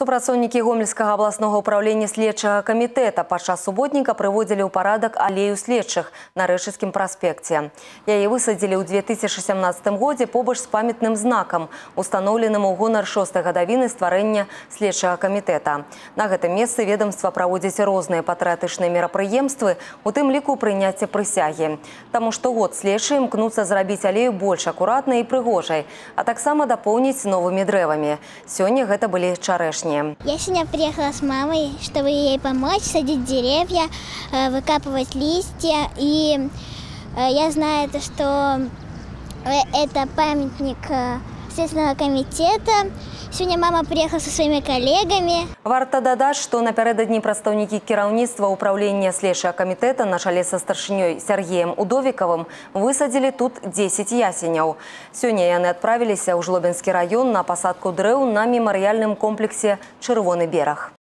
Супрацоўнікі Гомельскага абласнога ўправлення следчага камітэта падчас суботніка прыводзілі ў парадак алею следчых на Рэшыцкім праспекце. Яе высадзілі ў 2017 годзе побач з памятным знакам, устаноўленым у гонар 6-й гадавіны стварэння следчага камітэта. На гэтым месцы ведомства праводзіць розныя патрыятычныя мерапрыемствы, у тым ліку прыняцце прысягі. Таму штогод следчыя імкнуцца зрабіць алею больш акуратнай і прыгожай, а таксама дапоўніць новымі дрэвамі. Сёння гэта былі чарэшні. Я сегодня приехала с мамой, чтобы ей помочь садить деревья, выкапывать листья. И я знаю, что это памятник Следственного комитета. Сегодня мама приехала со своими коллегами. Варта дадаць, што напярэдадні прадстаўнікі кіраўніцтва ўправлення следчага камітэта на чале са старшынёй Сергеем Удовікавым высадзілі тут 10 ясеняў. Сёння яны адправіліся ў Жлобінскі раён на пасадку дрэў на мемарыяльным комплексе «Чырвоны бераг».